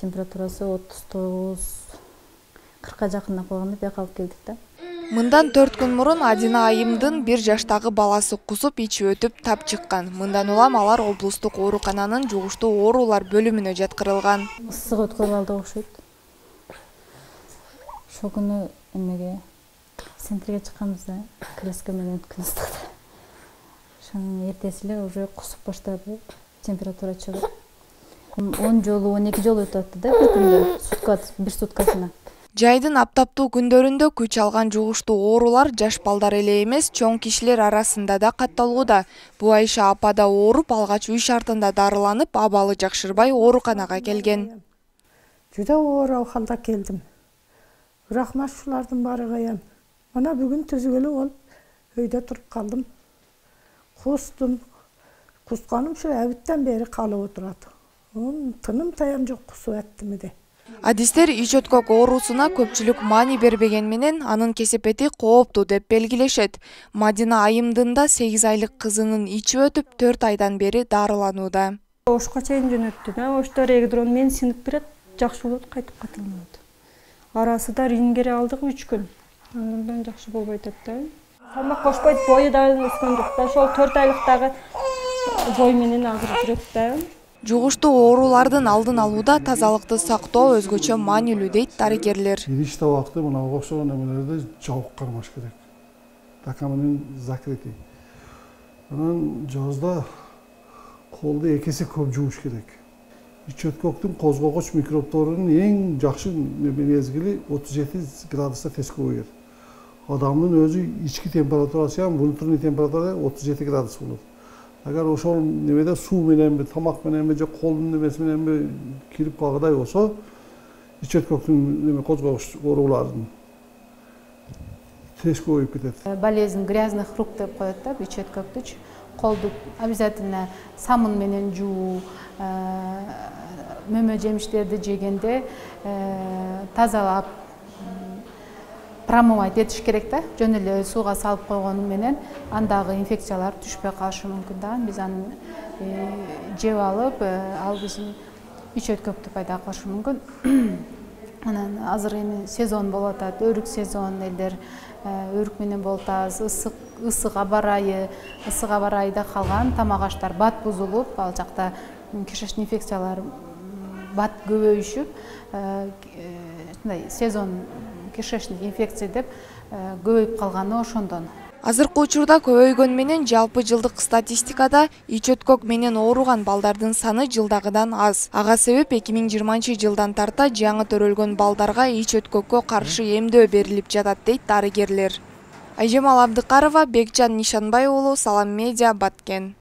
температурасы 39-40 жакындап калганда бияка алып келдик да. Мындан 4 күн мурун Адина айымдын 1 жаштагы баласы кусуп ичип өтүп тап чыккан. Мындан улам алар облустук оорукананын жугуштуу оорулар бөлүмүнө жаткырылган. Ысык өткөрүп алды окшойт. Ошол күнү эмеге центрге чыкканбызда, крестке менен күн ыстыкта. Ошонун эртеси эле уже кусуп баштады, температура чыгып. 10 жолу, 12 жолу өтүп атты да бир күндө, бир суткасына. Жайдын аптаптуу күндөрүндө күч алган жугуштуу оорулар жаш балдар эле эмес, чоң кишилер арасында да катталууда. Буайша апа да ооруп, алгач үй шартында дарыланып, абалы жакшырбай ооруканага келген. Жүдө оор халда келдим. Бирок ушулардын баары каян. Мына бүгүн түзүгөлүү болуп, өйдө туруп калдым. Кустум. Кусканым ушу әбиттен бери калып отурат. Тыным таям жок кусуп аттым. Адистер ич өткөк оорусуна көпчүлүк маани бербеген менен анын кесепети кооптуу деп белгилешет. Мадина айымдын да 8 айлык кызынын ичип өтүп 4 айдан бери дарыланууда. Ошко чейин жөнөттү. Ошто регидрон мен синип берет, жакшы болот, кайтып катылмайт. Арасында рингере алдык 3 күн. Андан жакшы болбой атат да. Салмак кошпойт, бою да өскөн жок да. Ошол 4 айлыктагы бой менен азыр жүрөт да. Жугуштуу оорулардын алдын алууда тазалыкты сактоо өзгөчө маанилүү дейт дарыгерлер. Ириш табакты мына окшогон эмелерди жабык кармаш керек. Така менен закрытый. Анан жазда колду 2 эсе көп жууш керек. Ич өткөктүн козгогуч микробторунун эң жакшы мезгили 37 градуста тез көбөйөт. Адамдын өзү ички температурасы ham внутренний температура 37 градус болот. Agar ошол немеде суу менен, тамак менен же колдун немеси менен кирип калгандай болсо, ич өткөктүн неме козгогуч оорулардын тез көбөйүп кетет. Болезнь грязных рук деп коет да, ич өткөктү. Колду обязательно самын менен жуу, мөмө жемиштерди жегенде тазалап промывать этиш керек да. Жөн эле сууга салып койгону менен андагы инфекциялар түшпөй калышы мүмкүн да. Биз аны жеп алып, ал биздин ич өткөктү пайда кылышы мүмкүн. Анан азыр эми сезон болуп атат, өрүк сезон, элдер өрүк менен болуп атат, ысык аба ырайда калган тамак аштар бат бузулуп, ал жакта кишечный инфекциялар бат көбөйүшүп, сезон кишечный инфекция деп көбөйүп калганы ошондон. Азыркы учурда көбөйгөн менен жалпы жылдык статистикада ич өткөк менен ооруган балдардын саны жылдагыдан аз. Ага себеп 2020-жылдан тарта жаңы төрөлгөн балдарга ич өткөккө каршы эмдөө берилип жатат дейт дарыгерлер. Айжамал Абдыкарова, Бекжан Нишанбай уулу, Салам Медиа, Баткен.